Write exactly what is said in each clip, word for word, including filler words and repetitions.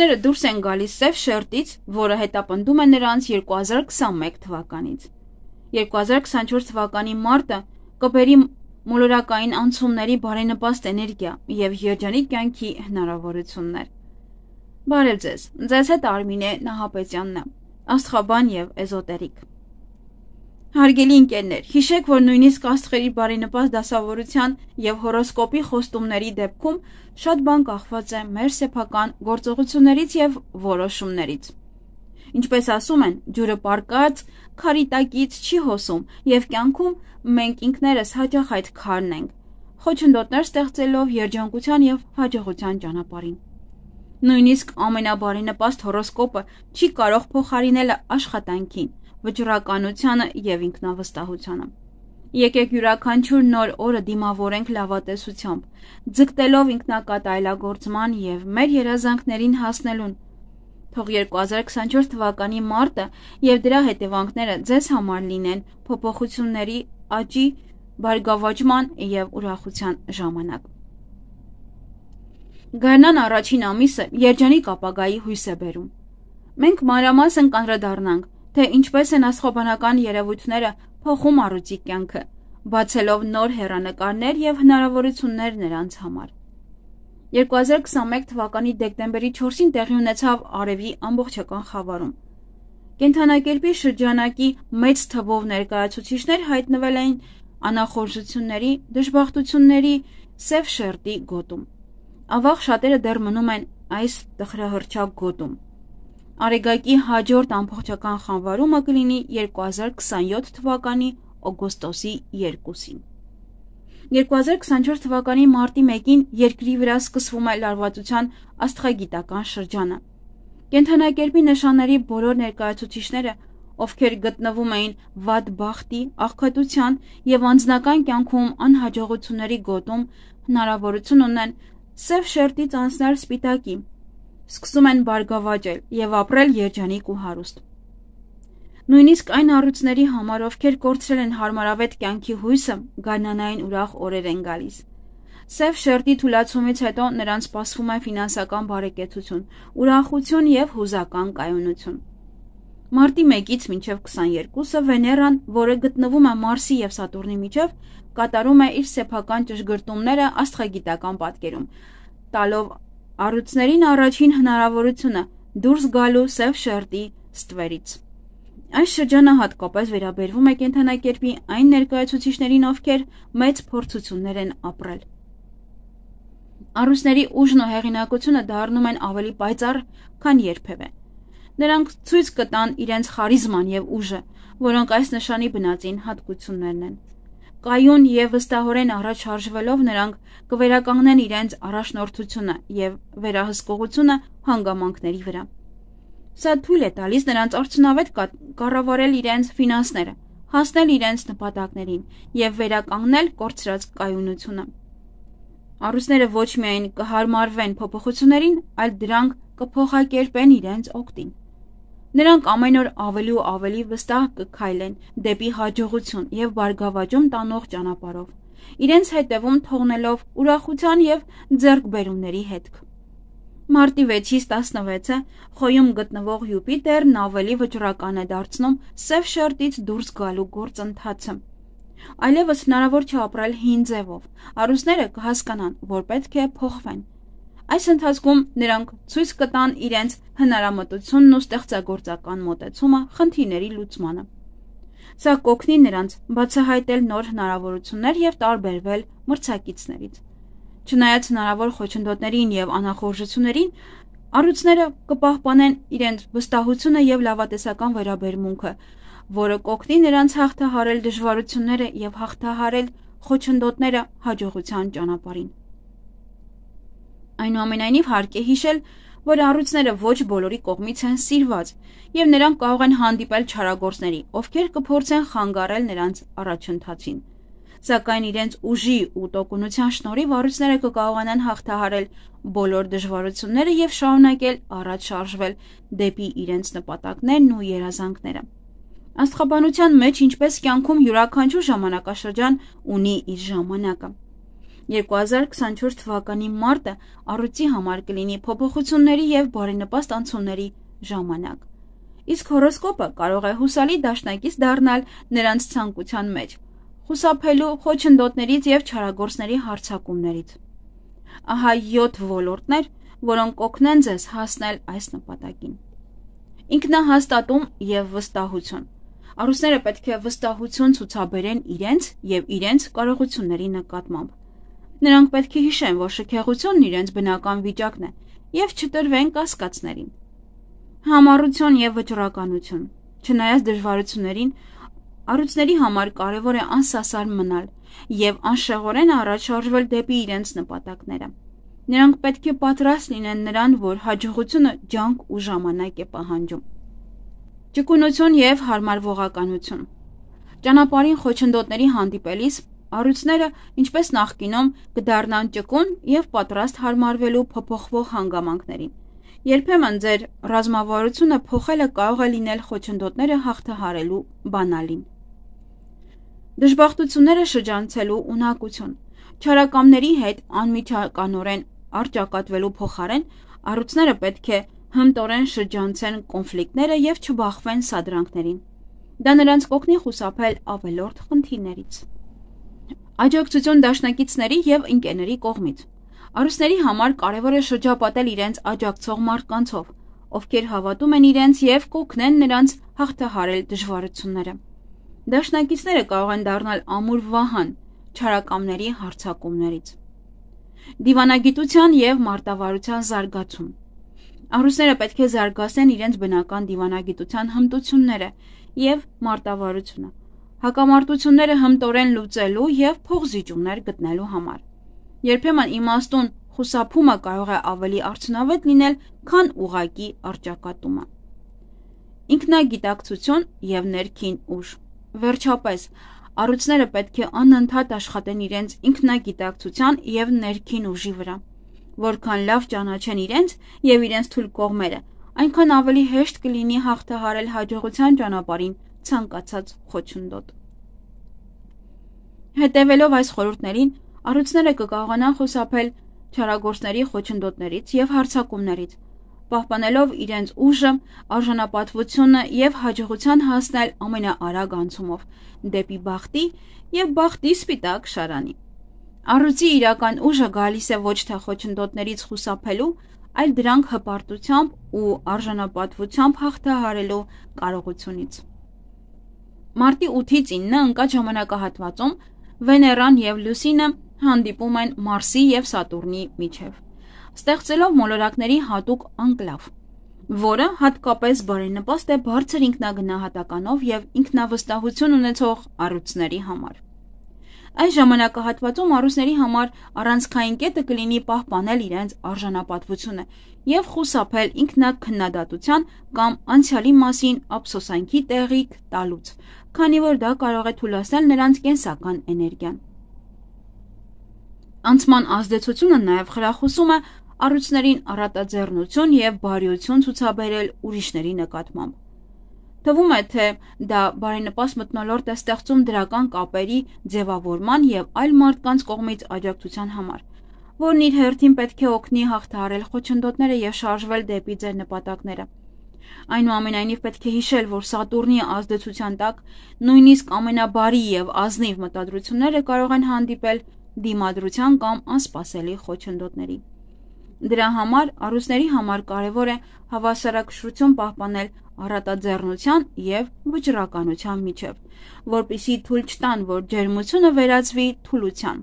Առյուծները դուրս են գալիս սև շերտից, որը հետապնդում է նրանց երկու հազար քսաներկու թվականից։ երկու հազար քսանչորս թվականի մարտը կբերի մոլորակային անցումների բարենպաստ էներգիա և երջանիկ կյանքի հնարավորություններ։ Բարև ձեզ, ձեզ հետ Արմինե Նահապետյանն է, աստղաբան և էզոտերիկ։ Հարգելի ընկերներ, հիշեք, որ նույնիսկ աստղերի բարենպաստ դասավորության և հորոսկոպի խոստումների դեպքում շատ բան կախված է մեր սեփական գործողություններից և որոշումներից։ Ինչպես ասում են, ջուրը պառկած քարի տակից չի հոսում, և կյանքում մենք ինքներս հաճախ այդ քարն ենք, խոչընդոտներ ստեղծելով երջանկության և հաջողության ճանապարհին։ Նույնիսկ ամենաբարենպաստ հորոսկոպը չի կարող փոխարինել աշխատանքին, վճռականությանը և ինքնավստահությանը։ Եկեք յուրաքանչյուր նոր օրը դիմավորենք լավատեսությամբ, ձգտելով ինքնակատայելագործման և մեր երազանքներին հասնելուն։ Թող երկու հազար քսանչորս թվականի մարտը և դրա հետևանքները ձեզ համար լինեն փոփոխությունների, աճի, բարգավաճման և ուրախության ժամանակ։ Գարնան առաջին ամիսը երջանիկ ապագայի հույս է բերում։ Մենք մանրամասն կանդրադառնանք, թե ինչպես են աստղաբանական երևույթները փոխում առյուծի կյանքը, բացելով նոր հեռանկարներ և հնարավորություններ նրանց համար։ երկու հազար քսաներկու թվականի դեկտեմբերի չորսին տեղի ունեցավ Արևի ամբողջական խավարում։ Կենդանակերպի շրջանակի մեծ թվով ներկայացուցիչներ հայտնվել էին անախորժությունների, դժբախտությունների սև շերտի գոտում։ Ավաղ շատերը դեռ մնում են այս տխրահռչակ գոտում։ Արեգակի հաջորդ ամբողջական խավարումը կլինի երկու հազար քսանյոթ թվականի օգոստոսի երկուսին։ երկու հազար քսանչորս թվականի մարտի մեկին երկրի վրա սկսվում է լարվածության աստղագիտական շրջանը։ Կենդանակերպի նշանների բոլոր ներկայացուցիչները, ովքեր գտնվում էին վատ բախտի, աղքատության և անձնական կյանքում անհաջողությունների գոտում, հնարավորություն ունեն սև շերտից անցնել սպիտակի, սկսում են բարգավաճել և ապրել երջանիկ ու հարուստ։ Նույնիսկ այն առյուծների համար, ովքեր կորցրել են հարմարավետ կյանքի հույսը, գարնանային ուրախ օրեր են գալիս։ Սև շերտի թուլացումից հետո նրանց սպասվում է ֆինանսական բարեկեցություն, ուրախություն և հուզական կայունություն։ Մարտի մեկից մինչև քսաներկուսը Վեներան, որը գտնվում է Մարսի և Սատուրնի միջև, կատարում է իր սեփական ճշգրտումները աստղագիտական պատկերում, տալով առյուծներին առաջին հնարավորությունը դուրս գալու սև շերտի ստվերից։ Այս շրջանը հատկապես վերաբերվում է կենդանակերպի այն ներկայացուցիչներին, ովքեր մեծ փորձություններ են ապրել։ Առյուծների ուժն ու հեղինակությունը դառնում են ավելի պայծառ, քան երբևէ։ Նրանք ցույց կտան իրենց խարիզման և ուժը, որոնք այս նշանի բնածին հատկություններն են։ Կայուն և վստահորեն առաջ շարժվելով նրանք կվերականգնեն իրենց առաջնորդությունը և վերահսկողությունը հանգամանքների վրա։ Սա թույլ է տալիս նրանց արդյունավետ կառավարել իրենց ֆինանսները, հասնել իրենց նպատակներին և վերականգնել կորցրած կայունությունը։ Առյուծները ոչ միայն կհարմարվեն փոփոխություններին, այլ դրանք կփոխակերպեն իրենց օգտին։ Նրանք ամեն օր ավելի ու ավելի վստահ կքայլեն դեպի հաջողություն և բարգավաճում տանող ճանապարհով, իրենց հետևում թողնելով ուրախության և ձեռքբերումների հետք։ Մարտի վեցից տասնվեցը Խոյում գտնվող Յուպիտերն ավելի վճռական է դարձնում սև շերտից դուրս գալու գործընթացը։ Այլևս հնարավոր չէ ապրել հին ձևով, առյուծները կհասկանան, որ պետք է փոխվեն։ Այս ընթացքում նրանք ցույց կտան իրենց հնարամտությունն ու ստեղծագործական մոտեցումը խնդիրների լուծմանը։ Սա կօգնի նրանց բացահայտել նոր հնարավորություններ և տարբերվել մրցակիցներից։ Չնայած հնարավոր խոչընդոտներին և անախորժություններին, առյուծները կպահպանեն իրենց վստահությունը և լավատեսական վերաբերմունքը, որը կօգնի նրանց հաղթահարել դժվարությունները և հաղթահարել խոչընդոտները հաջողության ճանապարհին։ Այնուամենայնիվ հարկ է հիշել, որ առյուծները ոչ բոլորի կողմից են սիրված, և նրանք կարող են հանդիպել չարագործների, ովքեր կփորձեն խանգարել նրանց առաջընթացին։ Սակայն իրենց ուժի ու տոկունության շնորհիվ առյուծները կկարողանան հաղթահարել բոլոր դժվարությունները և շարունակել առաջ շարժվել դեպի իրենց նպատակներն ու երազանքները։ Աստղաբանության մեջ, ինչպես կյանքում, յուրաքանչյուր ժամանակաշրջան ունի իր ժամանակը։ երկու հազար քսանչորս թվականի մարտը առյուծի համար կլինի փոփոխությունների և բարենպաստ անցումների ժամանակ, իսկ հորոսկոպը կարող է հուսալի դաշնակից դառնալ նրանց ցանկության մեջ, խուսափելու խոչընդոտներից և չարագործների հարձակումներից։ Ահա յոթ ոլորտներ, որոնք կօգնեն ձեզ հասնել այս նպատակին։ Ինքնահաստատում և վստահություն։ Առուսները պետք է վստահություն ցուցաբերեն իրենց և իրենց կարողությունների նկատմամբ։ Նրանք պետք է հիշեն, որ շքեղությունն իրենց բնական վիճակն է և չտրվեն կասկածներին։ Համառություն և վճռականություն։ Չնայած դժվարություններին, առյուծների համար կարևոր է անսասար մնալ և անշեղորեն առաջ շարժվել դեպի իրենց նպատակները։ Նրանք պետք է պատրաստ լինեն նրան, որ հաջողությունը ջանք ու ժամանակ է պահանջում։ Ճկունություն և հարմարվողականություն։ Ճանապարհին խոչընդոտների հանդիպելիս առյուծները, ինչպես նախկինում, կդառնան ճկուն և պատրաստ հարմարվելու փոփոխվող հանգամանքներին։ Երբեմն ձեր ռազմավարությունը փոխելը կարող է լինել խոչընդոտները հաղթահարելու բանալին։ Դժբախտությունները շրջանցելու ունակություն։ Չարակամների հետ անմիջականորեն առճակատվելու փոխարեն առյուծները պետք է հմտորեն շրջանցեն կոնֆլիկտները և չբախվեն սադրանքներին։ Դա նրանց կօգնի խուսափել ավելորդ խնդիրներից։ Աջակցություն դաշնակիցների և ընկերների կողմից։ Առյուծների համար կարևոր է շրջապատել իրենց աջակցող մարդկանցով, ովքեր հավատում են իրենց և կօգնեն նրանց հաղթահարել դժվարությունները։ Դաշնակիցները կարող են դառնալ ամուր վահան չարակամների հարձակումներից։ Դիվանագիտության և մարտավարության զարգացում։ Առյուծները պետք է զարգացնեն իրենց բնական դիվանագիտության հմտությունները և մարտավարությունը, հակամարտությունները հմտորեն լուծելու և փոխզիջումներ գտնելու համար։ Երբեմն իմաստուն խուսափումը կարող է ավելի արդյունավետ լինել, քան ուղղակի առճակատումը։ Ինքնագիտակցություն և ներքին ուժ։ Վերջապես, առյուծները պետք է անընդհատ աշխատեն իրենց ինքնագիտակցության և ներքին ուժի վրա։ Որքան լավ ճանաչեն իրենց և իրենց թույլ կողմերը, այնքան ավելի հեշտ կլինի հաղթահարել հաջողության ճանապարհին ցանկացած խոչընդոտ։ Հետևելով այս խորհուրդներին, առյուծները կկարողանան խուսափել չարագործների խոչընդոտներից և հարձակումներից, պահպանելով իրենց ուժը, արժանապատվությունը և հաջողության հասնել ամենաարագ անցումով դեպի բախտի և բախտի սպիտակ շարանի։ Առյուծի իրական ուժը գալիս է ոչ թե խոչընդոտներից խուսափելու, այլ դրանք հպարտությամբ ու արժանապատվությամբ հաղթահարելու կարողությունից։ Մարտի ութից ինը ընկած ժամանակահատվածում Վեներան և Լուսինը հանդիպում են Մարսի և Սատուրնի միջև, ստեղծելով մոլորակների հատուկ անկլավ, որը հատկապես բարենպաստ է բարձր ինքնագնահատականով և ինքնավստահություն ունեցող առյուծների համար։ Այս ժամանակահատվածում առյուծների համար առանցքային կետը կլինի պահպանել իրենց արժանապատվությունը և խուսափել ինքնաքննադատության կամ անցյալի մասին ափսոսանքի տեղիք տալուց, քանի որ դա կարող է թուլացնել նրանց կենսական էներգիան։ Անցման ազդեցությունը նաև խրախուսում է առյուծներին առատաձեռնություն և բարիություն ցուցաբերել ուրիշների նկատմամբ։ Թվում է, թե դա բարենպաստ մթնոլորտ է ստեղծում դրական կապերի ձևավորման և այլ մարդկանց կողմից աջակցության համար, որն իր հերթին պետք է օգնի հաղթահարել խոչընդոտները և շարժվել դեպի ձեր նպատակները։ Այնուամենայնիվ, պետք է հիշել, որ Սատուրնի ազդեցության տակ նույնիսկ ամենաբարի և ազնիվ մտադրությունները կարող են հանդիպել դիմադրության կամ անսպասելի խոչընդոտների։ Դրա համար առյուծների համար կարևոր է հավասարակշռություն պահպանել առատաձեռնության և վճռականության միջև, որպեսզի թույլ չտան, որ ջերմությունը վերածվի թուլության։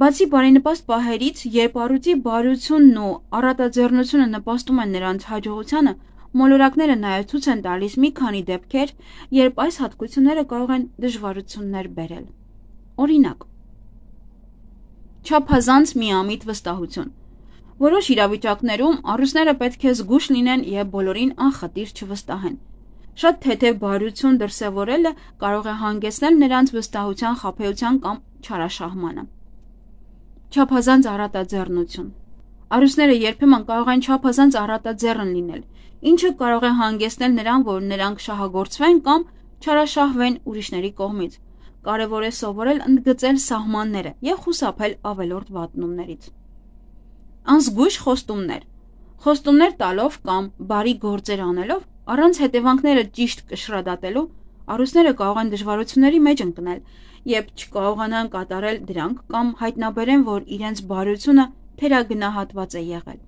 Բացի բարենպաստ պահերից, երբ առյուծի բարությունն ու առատաձեռնությունը նպաստում են նրանց հաջողությանը, մոլորակները նաև ցույց են տալիս մի քանի դեպքեր, երբ այս հատկությունները կարող են դժվարություններ բերել։ Օրինակ, չափազանց միամիտ վստահություն։ Որոշ իրավիճակներում առյուծները պետք է զգույշ լինեն և բոլորին անխտիր չվստահեն։ Շատ թեթև բարություն դրսևորելը կարող է հանգեցնել նրանց վստահության խաբեության կամ չարաշահմանը։ Չափազանց առատաձեռնություն։ Առյուծները երբեմն կարող են չափազանց առատաձեռն լինել, ինչը կարող է հանգեցնել նրան, որ նրանք շահագործվեն կամ չարաշահվեն ուրիշների կողմից, կարևոր է սովորել ընդգծել սահմանները և խուսափել ավելորդ վատնումներից։ Անզգույշ խոստումներ։ Խոստումներ տալով կամ բարի գործեր անելով, առանց հետևանքները ճիշտ կշռադատելու, առյուծները կարող են դժվարությունների մեջ ընկնել և չկարողանան կատարել դրանք կամ հայտնաբերեն, որ իրենց բարությունը թերագնահատված է եղել։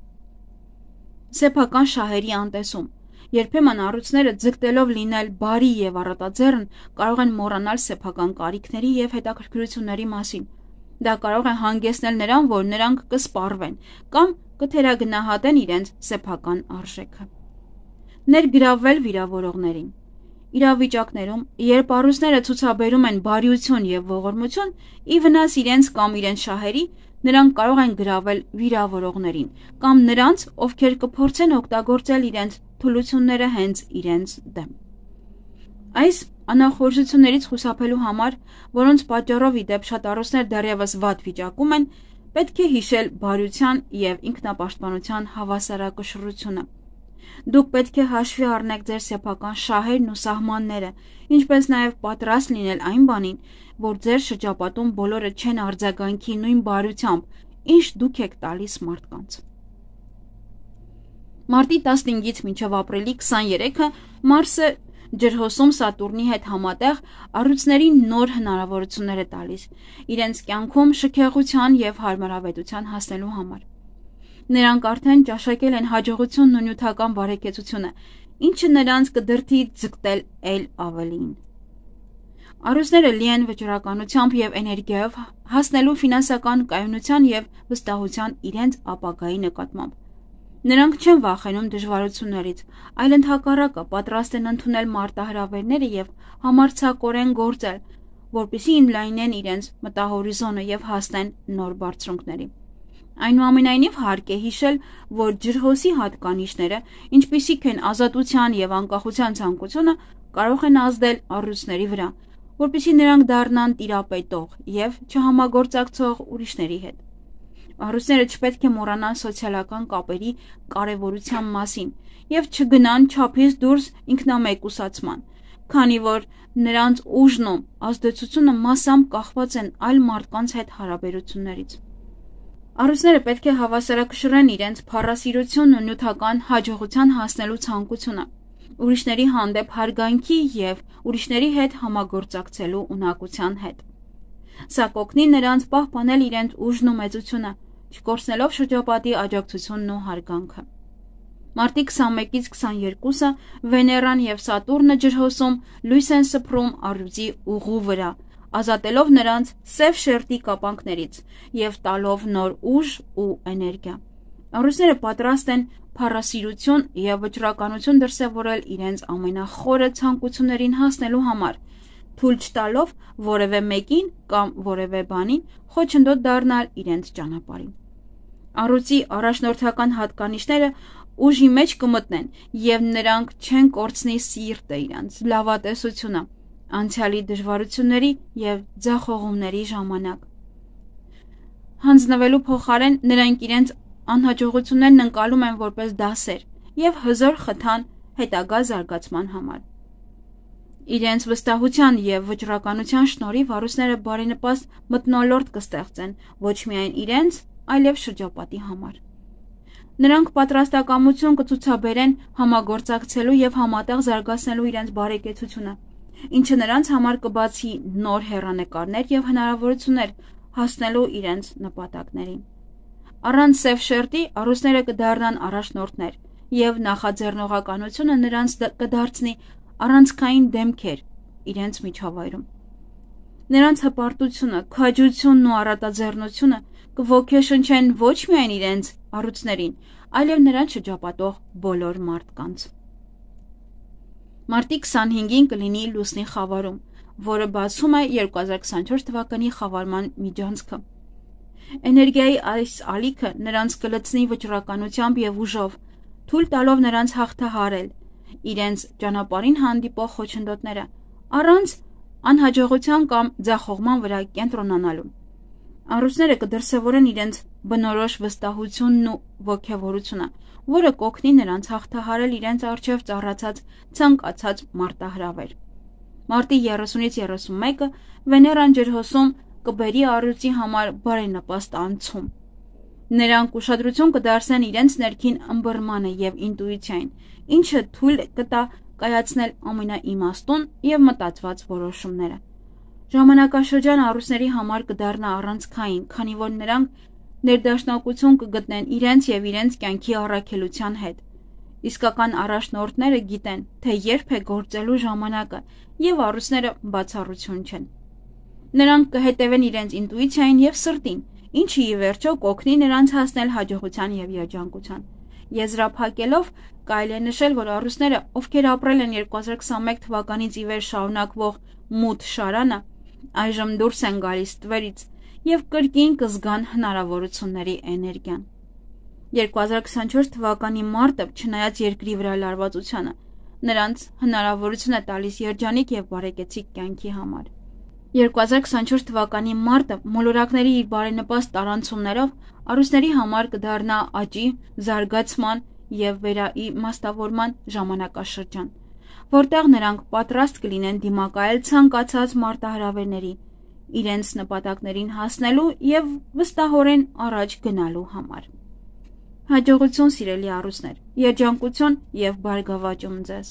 Սեփական շահերի անտեսում։ Երբեմն առյուծները ձգտելով լինել բարի և առատաձեռն կարող են մոռանալ սեփական կարիքների և հետաքրքրությունների մասին։ Դա կարող է հանգեցնել նրան, որ նրանք կսպառվեն կամ կթերագնահատեն իրենց սեփական արժեքը։ Ներգրավվել վիրավորողներին։ Իրավիճակներում, երբ առյուծները ցուցաբերում են բարիություն և ողորմություն, ի վնաս իրենց կամ իրենց շահերի, նրանք կարող են գրավել վիրավորողներին կամ նրանց, ովքեր կփորձեն օգտագործել իրենց թուլությունները հենց իրենց դեմ։ Այս անախորժություններից խուսափելու համար, որոնց պատճառով ի դեպ շատ առյուծներ դեռևս վատ վիճակում են, պետք է հիշել բարության և ինքնապաշտպանության հավասարակշռությունը։ Դուք պետք է հաշվի առնեք ձեր սեփական շահերն ու սահմանները, ինչպես նաև պատրաստ լինել այն բանին, որ ձեր շրջապատում բոլորը չեն արձագանքի նույն բարությամբ, ինչ դուք եք տալիս մարդկանց։ Մարտի տասնհինգից մինչև ապրիլի քսաներեքը Մարսը ջրհոսում Սատուրնի հետ համատեղ առյուծներին նոր հնարավորություններ է տալիս իրենց կյանքում շքեղության և հարմարավետության հասնելու համար։ Նրանք արդեն ճաշակել են հաջողությունն ու նյութական բարեկեցությունը, ինչը նրանց կդրդի ձգտել էլ ավելին։ Առյուծները լի են վճռականությամբ և էներգիայով հասնելու ֆինանսական կայունության և վստահության իրենց ապագայի նկատմամբ։ Նրանք չեն վախենում դժվարություններից, այլ ընդհակառակը պատրաստ են ընդունել մարտահրավերները և համարձակորեն գործել, որպեսզի ընդլայնեն իրենց մտահորիզոնը և հասնեն նոր բարձունքների։ Այնուամենայնիվ հարկ է հիշել, որ ջրհոսի հատկանիշները, ինչպիսիք են ազատության և անկախության ցանկությունը, կարող են ազդել առյուծների վրա, որպեսզի նրանք դառնան տիրապետող և չհամագործակցող ուրիշների հետ։ Առյուծները չպետք է մոռանան սոցիալական կապերի կարևորության մասին և չգնան չափից դուրս ինքնամեկուսացման, քանի որ նրանց ուժն ու ազդեցությունը մասամբ կախված են այլ մարդկանց հետ հարաբերություններից։ Առյուծները պետք է հավասարակշռեն իրենց փառասիրությունն ու նյութական հաջողության հասնելու ցանկությունը, ուրիշների հանդեպ հարգանքի և ուրիշների հետ համագործակցելու ունակության հետ։ Սա կօգնի նրանց պահպանել իրենց ուժն ու մեծությունը, չկորցնելով շրջապատի աջակցությունն ու հարգանքը։ Մարտի քսանմեկից քսաներկուսը Վեներան և Սատուրնը ջրհոսում լույս են սփռում առյուծի ուղու վրա, ազատելով նրանց սև շերտի կապանքներից և տալով նոր ուժ ու էներգիա։ Առյուծները պատրաստ են փառասիրություն և վճռականություն դրսևորել իրենց ամենախորը ցանկություններին հասնելու համար, թույլ չտալով որևէ մեկին կամ որևէ բանին խոչընդոտ դառնալ իրենց ճանապարհին։ Առյուծի առաջնորդական հատկանիշները ուժի մեջ կմտնեն և նրանք չեն կորցնի սիրտը իրենց լավատեսությունը անցյալի դժվարությունների և ձախողումների ժամանակ։ Հանձնվելու փոխարեն նրանք իրենց անհաջողություններն ընկալում են որպես դասեր և հզոր խթան հետագա զարգացման համար։ Իրենց վստահության և վճռականության շնորհիվ առյուծները բարենպաստ մթնոլորտ կստեղծեն ոչ միայն իրենց, այլև շրջապատի համար։ Նրանք պատրաստակամություն կցուցաբերեն համագործակցելու և համատեղ զարգացնելու իրենց բարեկեցությունը, ինչը նրանց համար կբացի նոր հեռանկարներ և հնարավորություններ հասնելու իրենց նպատակներին։ Առանց սև շերտի առյուծները կդառնան առաջնորդներ, և նախաձեռնողականությունը նրանց կդարձնի առանցքային դեմքեր իրենց միջավայրում։ Նրանց հպարտությունը, քաջությունն ու առատաձեռնությունը կոգեշնչեն ոչ միայն իրենց առյուծներին, այլև նրանց շրջապատող բոլոր մարդկանց։ Մարտի քսանհինգին կլինի լուսնի խավարում, որը բացում է երկու հազար քսանչորս թվականի խավարման միջանցքը։ Էներգիայի այս ալիքը նրանց կլցնի վճռականությամբ և ուժով, թույլ տալով նրանց հաղթահարել իրենց ճանապարհին հանդիպող խոչընդոտները, առանց անհաջողության կամ ձախողման վրա կենտրոնանալու։ Առյուծները կդրսևորեն իրենց բնորոշ վստահությունն ու ոգևորությունը, որը կօգնի նրանց հաղթահարել իրենց առջև ծառացած ցանկացած մարտահրավեր։ Մարտի երեսունից երեսունմեկը Վեներան ջրհոսում կբերի առյուծի համար բարենպաստ անցում։ Նրանք ուշադրություն կդարձնեն իրենց ներքին ըմբռնմանը եւ ինտուիցիային, ինչը թույլ կտա կայացնել ամենաիմաստուն եւ մտածված որոշումները։ Ժամանակաշրջանը առուսների համար կդառնա առանցքային, քանի որ նրանք ներդաշնակություն կգտնեն իրենց եւ իրենց կյանքի առաքելության հետ։ Իսկական առաջնորդները գիտեն, թե երբ է գործելու ժամանակը, եւ առուսները բացառություն չեն։ Նրանք կհետևեն իրենց ինտուիցիային եւ սրտին, ինչը ի վերջո կօգնի նրանց հասնել հաջողության եւ երջանկության։ Եզրափակելով կարելի է նշել, որ առուսները, ովքեր ապրել են երկու հազար քսաներկու թվականից ի վեր շարունակվող մութ շարանը, այժմ դուրս են գալիս տվերից եւ կրկին կզգան հնարավորությունների էներգիան։ երկու հազար քսանչորս թվականի մարտը, չնայած երկրի վրա լարվածությանը, նրանց հնարավորություն է տալիս երջանիկ եւ բարեկեցիկ կյանքի համար։ երկու հազար քսանչորս թվականի մարտը մոլորակների իր բարենպաստ տարանցումներով առուսների համար կդառնա աճի, զարգացման եւ վերաիմաստավորման ժամանակաշրջան, որտեղ նրանք պատրաստ կլինեն դիմակայել ցանկացած մարտահրավերների, իրենց նպատակներին հասնելու եւ վստահորեն առաջ գնալու համար։ Հաջողություն, սիրելի առուսներ, երջանկություն եւ բարգավաճում ձեզ։